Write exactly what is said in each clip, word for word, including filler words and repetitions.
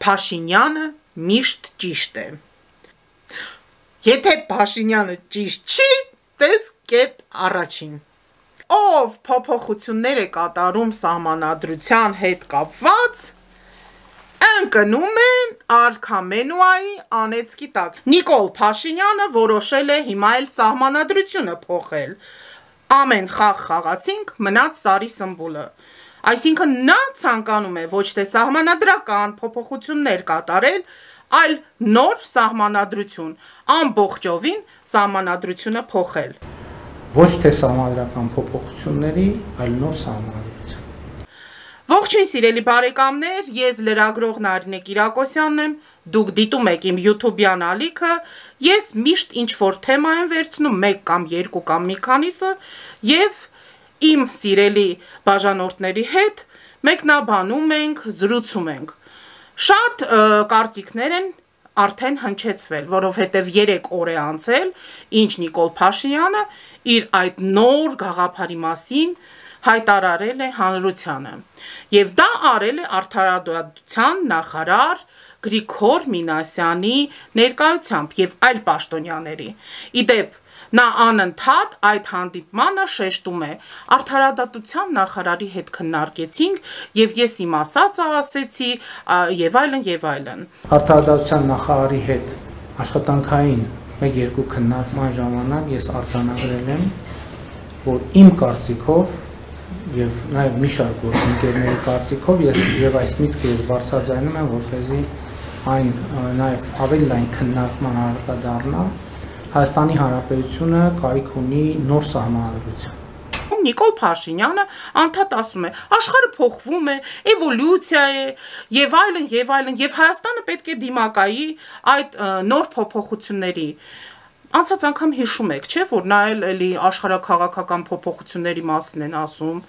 Փաշինյանը միշտ ճիշտ է։ Եթե Փաշինյանը ճիշտ չի, տես կետ առաջին։ Ով փոփոխություններ է կատարում սահմանադրության հետ կապված, ընկնում է արքամենուայի անեծքի տակ։ Նիկոլ Փաշինյանը որոշել է հիմա էլ սահմանադրությունը փոխել։ Ամեն խաղ խաղացինք, մնաց Սարի Սմբուլը։ Այսինքն նա ցանկանում է ոչ թե սահմանադրական փոփոխություններ կատարել, այլ նոր սահմանադրություն, ամբողջովին սահմանադրությունը փոխել։ Ոչ թե սահմանադրական փոփոխությունների, այլ նոր սահմանադրություն։ Ողջույն սիրելի բարեկամներ, ես լրագրող Նարինե Կիրակոսյանն եմ, դուք դիտում եք իմ YouTube-յան ալիքը, ես միշտ ինչ-որ թեմա եմ վերցնում, մեկ կամ երկու կամ մի քանիսը, և իմ սիրելի բաժանորդների հետ մեկնաբանում ենք, զրուցում ենք։ Շատ կարծիքներ են արդեն հնչեցվել, որովհետև երեք օր է անցել, ինչ Նիկոլ Փաշինյանը իր այդ նոր գաղափարի մասին հայտարարել է հանրությանը, և դա արել է արդարադատության նախարար Գրիգոր Մինասյանի ներկայությամբ և այլ պաշտոնյաների։ Իդեպ, նա անընդհատ այդ հանդիպմանը շեշտում է արդարադատության նախարարի հետ քննարկեցինք և ես իմ ասածը ասեցի և այլն և այլն։ Արդարադատության նախարարի հետ աշխատանքային մեկ-երկու քննարկման ժամանակ ես արձանագրել եմ, որ իմ կարծիքով և նաև մի շարք գործընկերների կարծիքով ես և այս միտքը ես բարձրաձայնում եմ, որպեսզի այն նաև ավելի լայն քննարկման առարկա դառնա, Հայաստանի Հանրապետությունը կարիք ունի նոր սահմանադրություն։ Նիկոլ Փաշինյանը անդադ ասում է, աշխարհը փոխվում է, էվոլյուցիա է, եւ այլն, եւ այլն, եւ Հայաստանը պետք է դիմակայի այդ նոր փոփոխությունների։ Անցած անգամ հիշում եք, չէ՞, որ նա էլի աշխարհաքաղաքական փոփոխությունների մասին են ասում։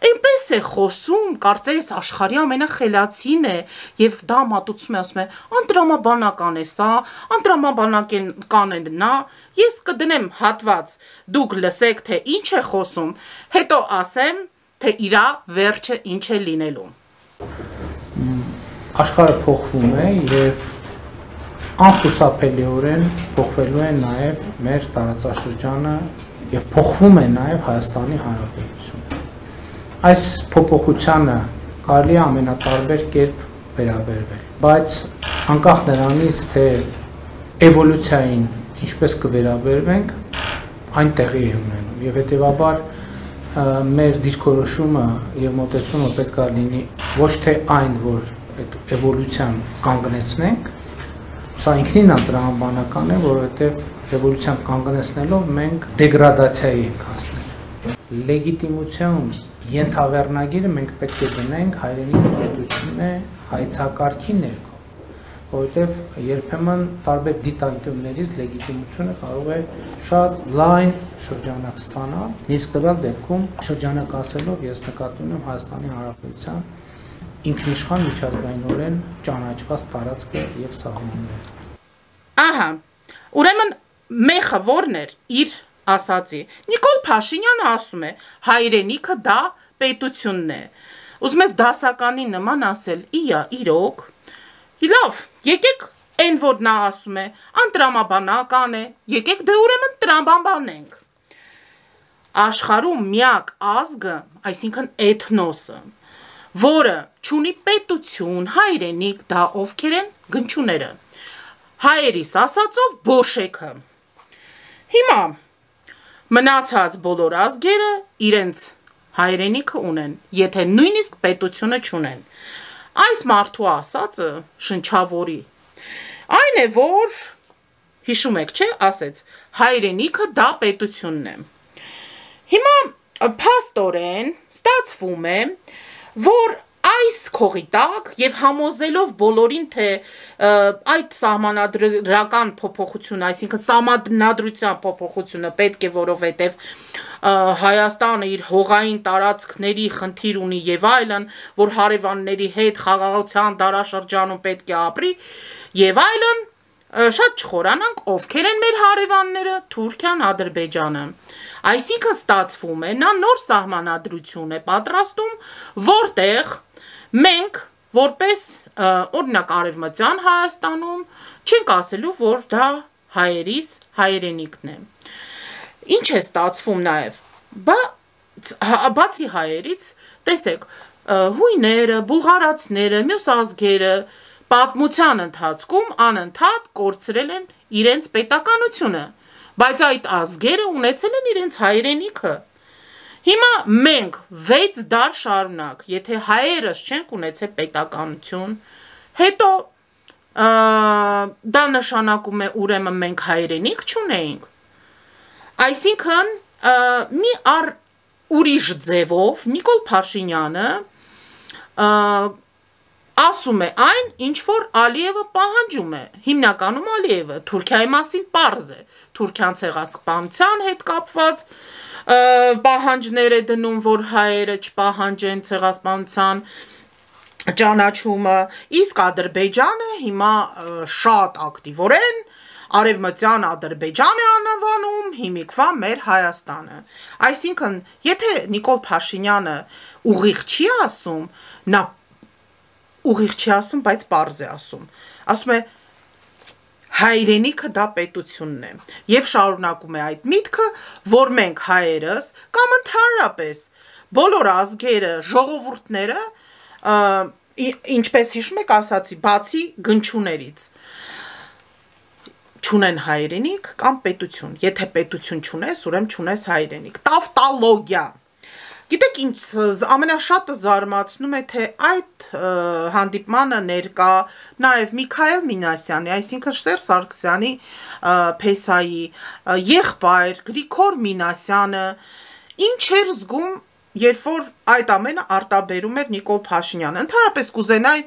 Այնպես է խոսում, կարծես աշխարհի ամենախելացին է, եւ դա մատուցում է, ասում է, անտրամաբանական է սա, անտրամաբանական է նա, ես կդնեմ հատված, դուք լսեք, թե ինչ է խոսում, հետո ասեմ, թե իրա վերջը ինչ է լինելու։ Աշխարհը փոխվում է եւ անխուսափելիորեն փոխվելու է նաեւ մեր տարածաշրջանը եւ փոխվում է նաեւ Հայաստանի Հանրապետությունը։ Այս փոփոխությանը կարելի է ամենատարբեր կերպ վերաբերվել, բայց անկախ նրանից, թե էվոլյուցիային ինչպես կվերաբերվենք, այն տեղի է ունենում եւ հետեւաբար մեր դիրքորոշումը եւ մոտեցումը պետք է լինի ոչ թե այն, որ այդ էվոլյուցիան կանգնեցնենք, սա ինքնին անտրամաբանական է, որովհետեւ էվոլյուցիան կանգնեցնելով մենք դեգրադացիայի ենք հասնել։ Լեգիտիմություն ենթավեռնագիրը մենք պետք է դնենք հայրենիքի պետությունն է հայցակարգի ներքո, որովհետև երբեմն տարբեր դիտանկյուններից լեգիտիմությունը կարող է շատ լայն շրջանակ ստանալ, իսկ տվյալ դեպքում շրջանակ ասելով ես նկատի ունեմ Հայաստանի Հանրապետության ինքնիշխան միջազգայինորեն ճանաչված տարածքը եւ սահմանները։ Ահա, ուրեմն մեխը որն էր իր ասացի։ Նիկոլ Փաշինյանը ասում է, հայրենիքը դա պետությունն է։ Ուզում ես դասականի նման ասել, իա, իրոք։ Լավ, եկեք այն որ նա ասում է, անտրամաբանական է, եկեք դե ուրեմն տրամաբանենք։ Աշխարհում միակ ազգը, այսինքն էթնոսը, որը չունի պետություն, հայրենիք, դա ովքեր են գնչուները։ Հայերիս ասածով բոշեքը։ Հիմա մնացած բոլոր ազգերը իրենց հայրենիքը ունեն, եթե նույնիսկ պետությունը չունեն։ Այս մարդու ասածը շնչավորի։ Այն է, որ հիշում եք, չէ, ասեց, հայրենիքը դա պետությունն է։ Հիմա փաստորեն ստացվում է, որ այս քողի տակ եւ համոզելով բոլորին, թե այդ սահմանադրական փոփոխությունը, այսինքն սահմանադրության փոփոխությունը պետք է, որովհետեւ Հայաստանը իր հողային տարածքների խնդիր ունի եւ այլն, որ հարևանների հետ խաղաղության դարաշրջանում պետք է ապրի եւ այլն, շատ չխորանանք, ովքեր են մեր հարևանները, Թուրքիան, Ադրբեջանը։ Այսինքն ստացվում է, նա նոր սահմանադրություն է պատրաստում, որտեղ մենք որպես օրինակ Արևմտյան Հայաստանում չենք ասելու, որ դա հայերիս հայրենիքն է։ Ինչ է ստացվում նաև, բացի հայերից, տեսեք, հույները, բուլղարացիները, մյուս ազգերը պատմության ընթացքում անընդհատ կորցրել են իրենց պետականությունը, բայց այդ ազգերը ունեցել են իրենց հայրենիքը։ Հիմա մենք վեց դար շարունակ, եթե հայերս չենք ունեցել պետականություն, հետո դա նշանակում է ուրեմն մենք հայրենիք չունեինք։ Այսինքն մի առ ուրիշ ձևով Նիկոլ Փաշինյանը ասում է այն, ինչ որ Ալիևը պահանջում է, հիմնականում Ալիևը, Թուրքիայի մասին պարզ է, Թուրքիան ցեղասպանության հետ կապված պահանջներ է դնում, որ հայերը չպահանջեն ցեղասպանության ճանաչումը, իսկ Ադրբեջանը հիմա շատ ակտիվորեն Արևմտյան Ադրբեջան է անվանում, հիմիկվա մեր Հայաստանը։ Այսինքն, եթե Նիկոլ Փաշինյանը ուղիղ չի ասում, նա ուղիղ չի ասում, բայց պարզ է ասում։ Ասում է հայրենիքը դա պետությունն է եւ շարունակում է այդ միտքը, որ մենք հայերս կամ ընդհանրապես բոլոր ազգերը, ժողովուրդները, ինչպես հիշում եք ասացի, բացի գնչուներից չունեն հայրենիք կամ պետություն։ Եթե պետություն չունես, ուրեմն չունես հայրենիք։ Տավտալոգիա։ Գիտեք ինչ ամենաշատը զարմացնում է, թե այդ հանդիպմանը ներկա նաև Միքայել Մինասյանի, այսինքն Սերժ Սարգսյանի փեսայի եղբայր Գրիգոր Մինասյանը ինչ էր զգում, երբ որ այդ ամենը արտաբերում էր Նիկոլ Փաշինյանը։ Ընդհանրապես կուզենայի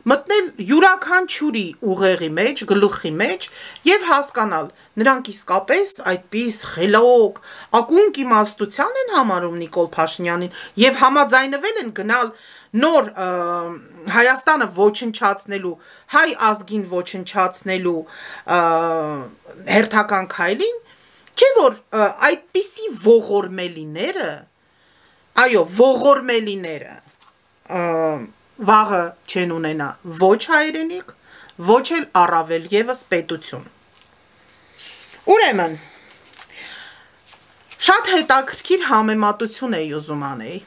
մտնել յուրաքանչյուրի ուղեղի մեջ, գլուխի մեջ եւ հասկանալ, նրանք իսկապես այդպես խելոք, ակունք իմաստության են համարում Նիկոլ Փաշինյանին եւ համաձայնվել են գնալ նոր Հայաստանը ոչնչացնելու, հայ ազգին ոչնչացնելու հերթական քայլին, չէ՞ որ այդպիսի ողորմելիները, այո, ողորմելիները վաղը չեն ունենա ոչ հայրենիք, ոչ էլ առավել եւս պետություն։ Ուրեմն, շատ հետաքրքիր համեմատություն էի ուզում անեի։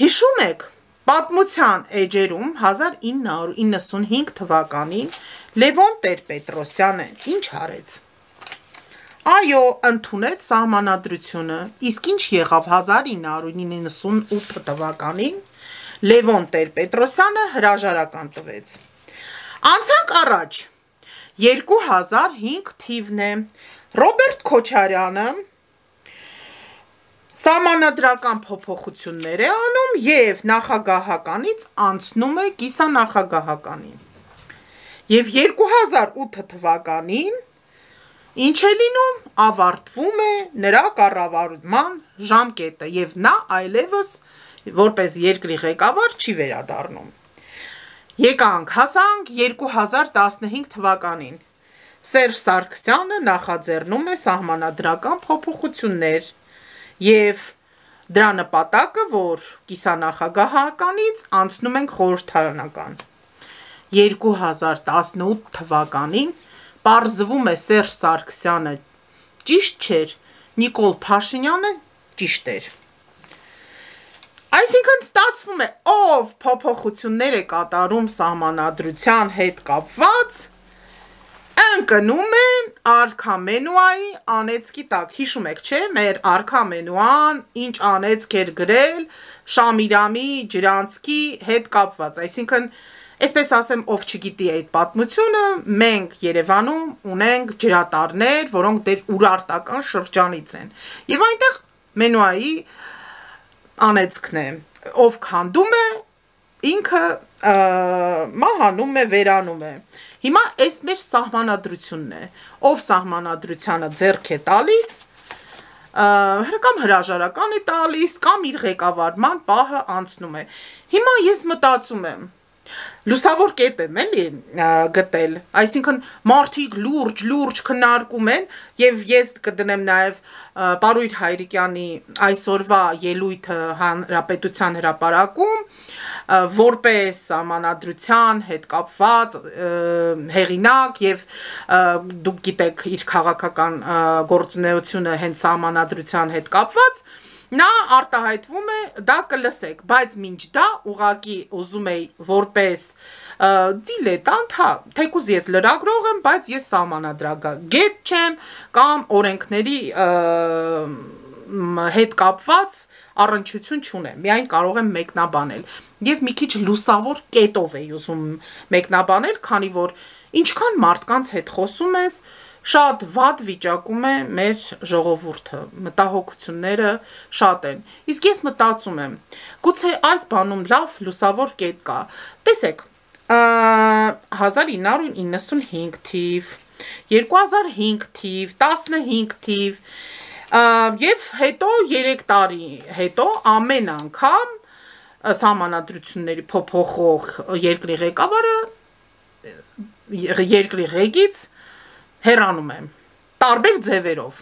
Հիշում եք, պատմության էջերում հազար ինը հարյուր իննսունհինգ թվականին Լևոն Տեր-Պետրոսյանը ինչ արեց։ Այո, ընդունեց սահմանադրությունը, իսկ ինչ եղավ հազար ինը հարյուր իննսունութ թվականին Լևոն Տեր-Պետրոսյանը հրաժարական տվեց։ Անցանք առաջ, երկու հազար հինգ թիվն է, Ռոբերտ Քոչարյանը սահմանադրական փոփոխություններ է անում եւ նախագահականից անցնում է կիսանախագահականին։ Եվ երկու հազար ութ թվականին ինչ է լինում, ավարտվում է նրա կառավարման ժամկետը եւ նա այլևս որպես երկրի ղեկավար չի վերադառնում։ Եկանք, հասանք երկու հազար տասնհինգ թվականին։ Սերժ Սարգսյանը նախաձեռնում է սահմանադրական փոփոխություններ եւ դրա նպատակը, որ կիսանախագահականից անցնում ենք խորհրդարանական։ երկու հազար տասնութ թվականին պարզվում է Սերժ Սարգսյանը ճիշտ չէր, Նիկոլ Փաշինյանը ճիշտ էր։ Այսինքն ստացվում է, ով փոփոխություններ է կատարում սահմանադրության հետ կապված, ընկնում է արքամենուայի անեծքի տակ։ Հիշում եք, չէ՞, մեր արքամենուան ինչ անեծք էր գրել Շամիրամի Ջրանցքի հետ կապված։ Այսինքն, այսպես ասեմ, ով չգիտի այդ պատմությունը, մենք Երևանում ունենք ջրատարներ, որոնք դեր ուրարտական շրջանից են։ Եվ այնտեղ մենուայի անեծքն է, ով քանդում է, ինքը մահանում է, վերանում է։ Հիմա այս մեր սահմանադրությունն է, ով սահմանադրությանը ձեռք է տալիս, կամ հրաժարական է տալիս, կամ իր ղեկավարման պահը անցնում է։ Հիմա ես մտածում եմ, լուսավոր կետ եմ էլի գտել, այսինքն մարդիկ լուրջ, լուրջ քննարկում են եւ ես կդնեմ նաեւ Պարույր Հայրիկյանի այսօրվա ելույթը Հանրապետության հրապարակում որպես սահմանադրության հետ կապված հեղինակ եւ դուք գիտեք իր քաղաքական գործունեությունը հենց սահմանադրության հետ կապված նա արտահայտվում է, դա կլսեք, բայց մինչ դա ուղակի ուզում էի որպես դիլետանտ, հա, թեկուզ ես լրագրող եմ, բայց ես սահմանադրագետ չեմ կամ օրենքների հետ կապված առնչություն չունեմ, միայն կարող եմ մեկնաբանել եւ մի քիչ լուսավոր կետով էի ուզում մեկնաբանել, քանի որ ինչքան մարդկանց հետ խոսում ես շատ վատ վիճակում է մեր ժողովուրդը, մտահոգությունները շատ են, իսկ ես մտածում եմ, գուցե այս բանում լավ լուսավոր կետ կա, տեսեք, հազար ինը հարյուր իննսունհինգ թիվ, երկու հազար հինգ թիվ, տասնհինգ թիվ, եւ հետո երեք տարի հետո ամեն անգամ սահմանադրությունների փոփոխող երկրի ղեկավարը երկրի ղեկից հեռանում եմ, տարբեր ձևերով,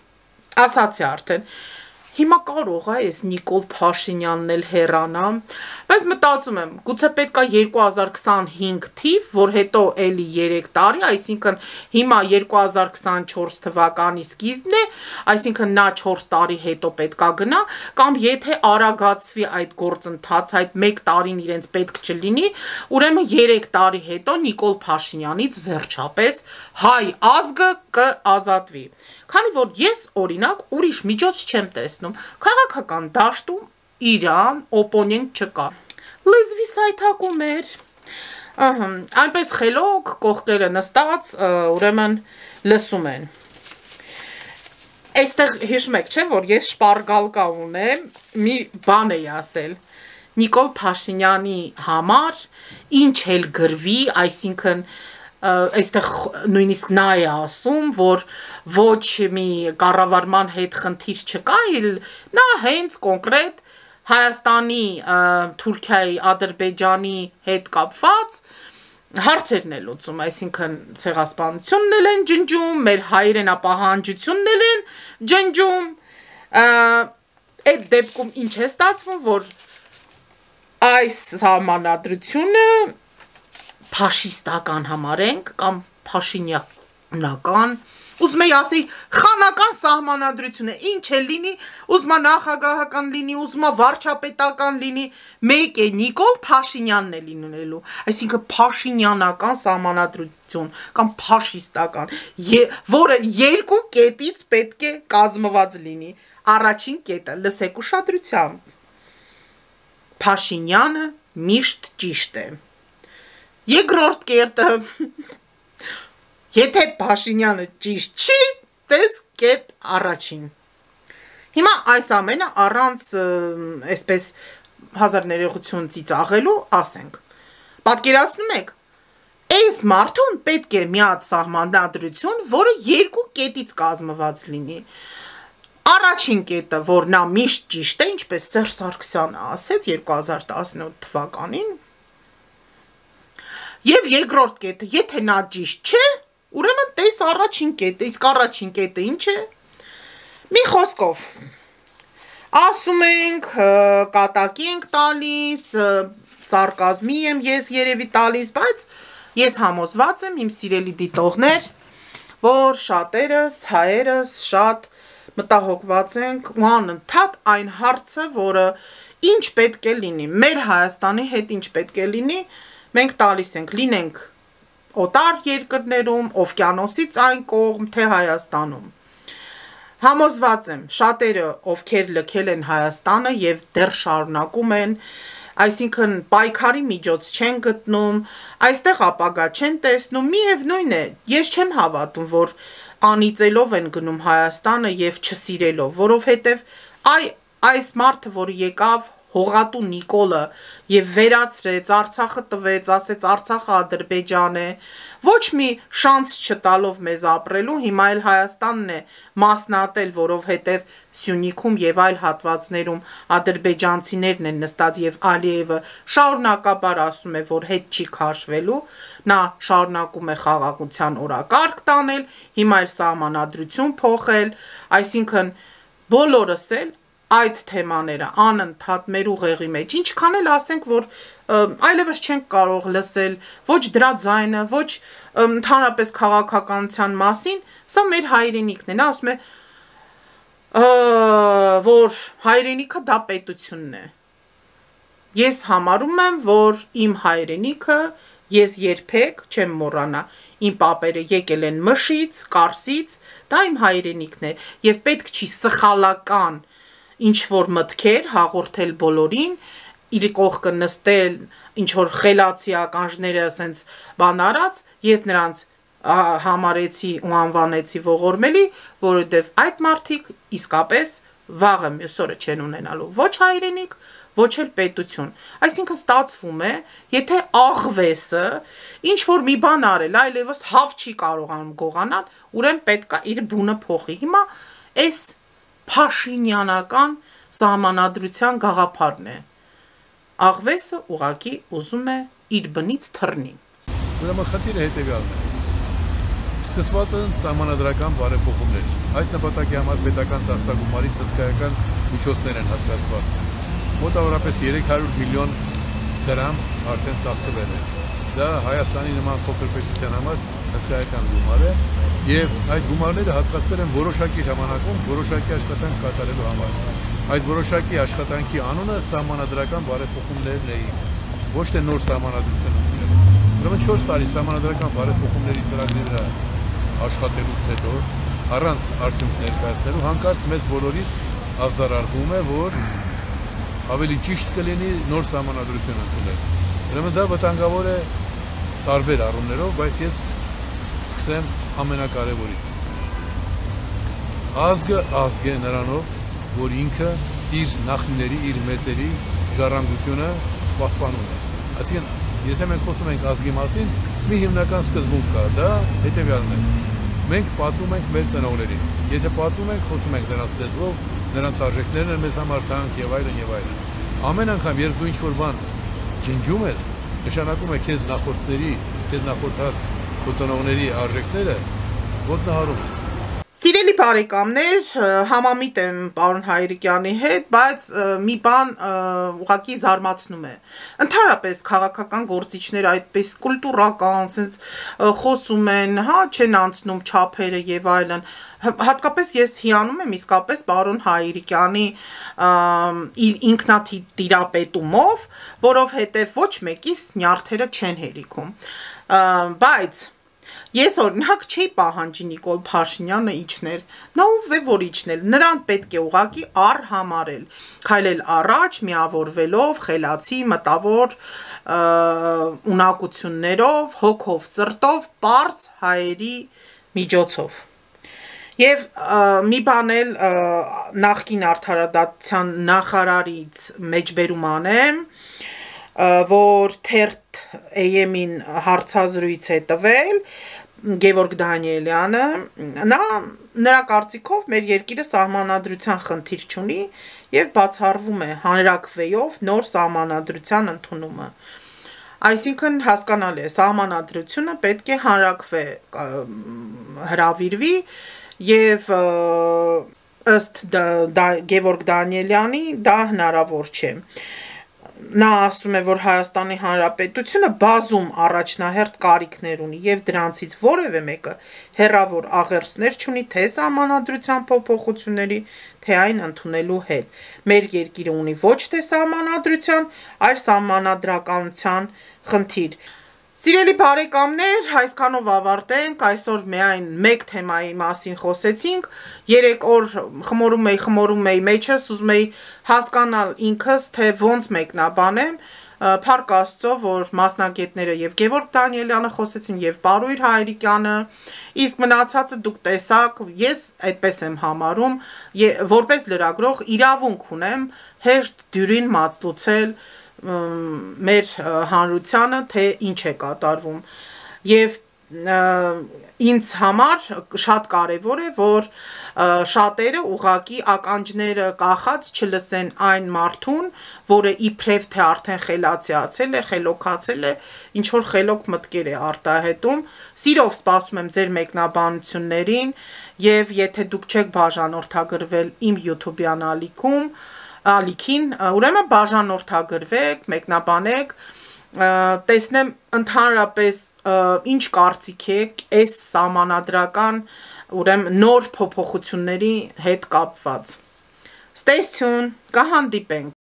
ասացի արդեն, հիմա կարող է ես Նիկոլ Փաշինյանն էլ հեռանա, բայց մտածում եմ, գուցե պետք է երկու հազար քսանհինգ թիվ, որ հետո էլի երեք տարի, այսինքն հիմա երկու հազար քսանչորս թվականի սկիզբն է, այսինքն նա չորս տարի հետո պետք է գնա, կամ եթե արագացվի այդ գործընթացը, այդ մեկ տարին իրենց պետք չլինի, ուրեմն երեք տարի հետո Նիկոլ Փաշինյանից վերջապես հայ ազգը կազատվի։ Քանի որ ես օրինակ ուրիշ միջոց չեմ տեսնում, քաղաքական դաշտում իրան օպոնենտ չկա։ Լեզվի սայթակում էր, այնպես խելոք կողքերը նստած, ուրեմն լսում են։ Այստեղ հիշում եք, չէ, որ ես շպարգալկա ունեմ, մի բան էի ասել։ Նիկոլ Փաշինյանի համար ինչ էլ գրվի, այսինքն այստեղ նույնիսկ նա է ասում, որ ոչ մի կառավարման հետ խնդիր չկա, նա հենց կոնկրետ Հայաստանի, Թուրքիայի, Ադրբեջանի հետ կապված հարցերն է լուծում, այսինքն ցեղասպանությունն էլ են ջնջում, մեր հայրենապահանջությունն էլ են ջնջում, այդ դեպքում ինչ է ստացվում, որ այս սահմանադրությունը փաշիստական համարենք կամ փաշինյանական, ուզում եի ասի խանական սահմանադրություն է, ինչ է լինի, ուզում է նախագահական լինի, ուզում է վարչապետական լինի, մեկ է Նիկոլ Փաշինյանն է լինելու, այսինքն փաշինյանական սահմանադրություն կամ փաշիստական, որը երկու կետից պետք է կազմված լինի, առաջին կետը լսեք ուշադրությամբ, Փաշինյանը միշտ ճիշտ է, երկրորդ կետը, եթե Փաշինյանը ճիշտ չի, տես կետ առաջին։ Հիմա այս ամենը առանց այսպես հազար ներողություն ծիծաղելու ասենք։ Պատկերացնում եք, այս մարդուն պետք է մի հատ սահմանադրություն, որը երկու կետից կազմված լինի։ Առաջին կետը, որ նա միշտ ճիշտ է, ինչպես Սերժ Սարգսյանը ասեց երկու հազար տասնութ թվականին, Եվ երկրորդ կետը, եթե նա ճիշտ չէ, ուրեմն տես առաջին կետը, իսկ առաջին կետը ինչ է։ Մի խոսքով, ասում ենք, կատակի ենք տալիս, սարկազմի եմ ես երևի տալիս, բայց ես համոզված եմ իմ սիրելի դիտողներ, որ շատերս, հայերս շատ մտահոգված ենք ու անընդհատ այն հարցը, որը ինչ պետք է լինի, մեր Հայաստանի հետ ինչ պետք է լինի, մենք տալիս ենք, լինենք օտար երկրներում, օվկիանոսից այն կողմ, թե Հայաստանում։ Համոզված եմ, շատերը, ովքեր լքել են Հայաստանը և դեռ շարունակում են, այսինքն պայքարի միջոց չեն գտնում, այստեղ ապագա չեն տեսնում, միևնույն է, ես չեմ հավատում, որ անիծելով են գնում Հայաստանը և չսիրելով, որովհետև այս մարդը, որ եկավ Հողատու Նիկոլը եւ վերացրեց, Արցախը տվեց, ասեց Արցախը Ադրբեջան է, ոչ մի շանս չտալով մեզ ապրելու, հիմա էլ Հայաստանն է մասնատել, որովհետեւ Սյունիքում եւ այլ հատվածներում ադրբեջանցիներն են նստած եւ Ալիևը շարունակաբար ասում է, որ հետ չի քաշվելու, նա շարունակում է խաղաղության օրակարգ տանել, հիմա էլ սահմանադրություն փոխել, այսինքն բոլորս էլ այդ թեմաները անընդհատ մեր ուղեղի մեջ, ինչքան էլ ասենք, որ այլևս չենք կարող լսել ոչ դրա ձայնը, ոչ ընդհանրապես քաղաքականության մասին, սա մեր հայրենիքն է, նա ասում է, որ հայրենիքը դա պետությունն է, ես համարում եմ, որ իմ հայրենիքը, ես երբեք չեմ մոռանա, իմ պապերը եկել են Մշից, Կարսից, դա իմ հայրենիքն է, եւ պետք չի սխալական ինչ-որ մտքեր հաղորդել բոլորին, իր կողքը նստել, ինչ-որ խելացի ականջները ասենց բան արած, ես նրանց համարեցի ու անվանեցի ողորմելի, որովհետև այդ մարդիկ իսկապես վաղը մյուս օրը չեն ունենալու ոչ հայրենիք, ոչ էլ պետություն, այսինքն ստացվում է, եթե աղվեսը ինչ-որ մի բան արել, այլևս հավ չի կարողանում գողանալ, ուրեմն պետք է իր բունը փոխի, հիմա այս Փաշինյանական սահմանադրության գաղափարն է, աղվեսը ուղղակի ուզում է իր բնից թռնի։ Ուրեմն խնդիրը հետևյալն է, սկսված են սահմանադրական բարեփոխումներ, այդ նպատակի համար պետական ծախսագումարից հսկայական միջոցներ են հաստատված, մոտավորապես երեք հարյուր միլիոն դրամ արդեն ծախսվել է, դա Հայաստանի նման փոքր պետության համար հսկայական գումար է եւ այդ գումարները հատկացվել են որոշակի ժամանակում որոշակի աշխատանք կատարելու համար։ Այդ որոշակի աշխատանքի անունը սահմանադրական բարեփոխումներն էին, ոչ թե նոր սահմանադրություն ընդունելը։ Ուրեմն չորս տարի սահմանադրական բարեփոխումների ծրագրի վրա աշխատելուց հետո առանց արդյունք ներկայացնելու հանկարծ մեզ բոլորիս ազդարարվում է, որ ավելի ճիշտ կլինի նոր սահմանադրություն ընդունել։ Ուրեմն դա վտանգավոր է տարբեր առումներով, բայց ես սկսեմ ամենակարևորից։ Ազգը ազգ է նրանով, որ ինքը իր նախնիների, իր մեծերի ժառանգությունը պահպանում է։ Այսինքն, եթե մենք խոսում ենք ազգի մասին, մի հիմնական սկզբունք կա, դա հետևյալն է։ Մենք պատվում ենք մեր ծնողներին։ Եթե պատվում ենք, խոսում ենք նրանց լեզվով, նրանց արժեքներն են մեզ համար թանկ եւ այլն եւ այլն։ Ամեն անգամ, երբ դու ինչ-որ բան ջնջում ես, նշանակում է քեզ նախորդների, քեզ նախորդած քո ծնողների արժեքները ոտնահարում ես։ Սիրելի բարեկամներ, համամիտ եմ պարոն Հայրիկյանի հետ, բայց մի բան ուղղակի զարմացնում է։ Ընդհանրապես քաղաքական գործիչները այդպես կուլտուրական, sense խոսում են, հա, չեն անցնում չափերը եւ այլն։ Հատկապես ես հիանում եմ իսկապես պարոն Հայրիկյանի իր ինքնատիրապետումով, որովհետեւ ոչ մեկիս նյարդերը չեն հերիքում։ Բայց ես օրինակ չի պահանջի Նիկոլ Փաշինյանը իջներ, նա ով է որ իջնել, նրան պետք է ուղղակի արհամարել, քայլել առաջ, միավորվելով, խելացի, մտավոր ունակություններով, հոգով, սրտով, պարզ հայերի միջոցով։ Եվ մի բան էլ նախկին արդարադատության նախարարից մեջբերում անեմ, որ թերթ Է Էմ-ին հարցազրույց է տվել Գևորգ Դանիելյանը, նա նրա կարծիքով մեր երկիրը սահմանադրության խնդիր չունի եւ բացառվում է հանրակրվեով նոր սահմանադրության ընդունումը։ Այսինքն հասկանալի է, սահմանադրությունը պետք է հանրակրվե հրավիրվի եւ ըստ Գևորգ Դանիելյանի դա հնարավոր չէ։ Նա ասում է, որ Հայաստանի Հանրապետությունը բազում առաջնահերթ կարիքներ ունի եւ դրանցից որևէ մեկը հերավոր աղերսներ չունի թե սահմանադրության փոփոխությունների, թե այն ընդունելու հետ։ Մեր երկիրը ունի ոչ թե սահմանադրության, այլ սահմանադրականության խնդիր։ Սիրելի բարեկամներ, այսքանով ավարտենք, այսօր միայն մեկ թեմայի մասին խոսեցինք, երեք օր խմորում էի, խմորում էի մեջս, ուզում էի հասկանալ ինքս, թե ոնց մեկնաբանեմ, փառք Աստծո, որ մասնագետները եւ Գևորգ Դանիելյանը խոսեցին եւ Պարույր Հայրիկյանը, իսկ մնացածը դուք տեսաք, ես այդպես եմ համարում, որպես լրագրող իրավունք ունեմ հեշտ դյուրին մածտուցել մեր հանրությանը, թե ինչ է կատարվում, եւ ինձ համար շատ կարևոր է, որ շատերը ուղակի ականջները կախած չլսեն այն մարդուն, որը իբրև թե արդեն խելացիացել է, խելոքացել է, ինչ որ խելոք մտքեր է արտահայտում։ Սիրով սպասում եմ ձեր մեկնաբանություններին, եւ եթե դուք չեք բաժանորդագրվել իմ YouTube-յան ալիքում, ալիքին, ուրեմն բաժանորդագրվեք, մեկնաբանեք, տեսնեմ ընդհանրապես ինչ կարծիք եք այս սահմանադրական ուրեմն նոր փոփոխությունների հետ կապված։ Stay tuned, կհանդիպենք։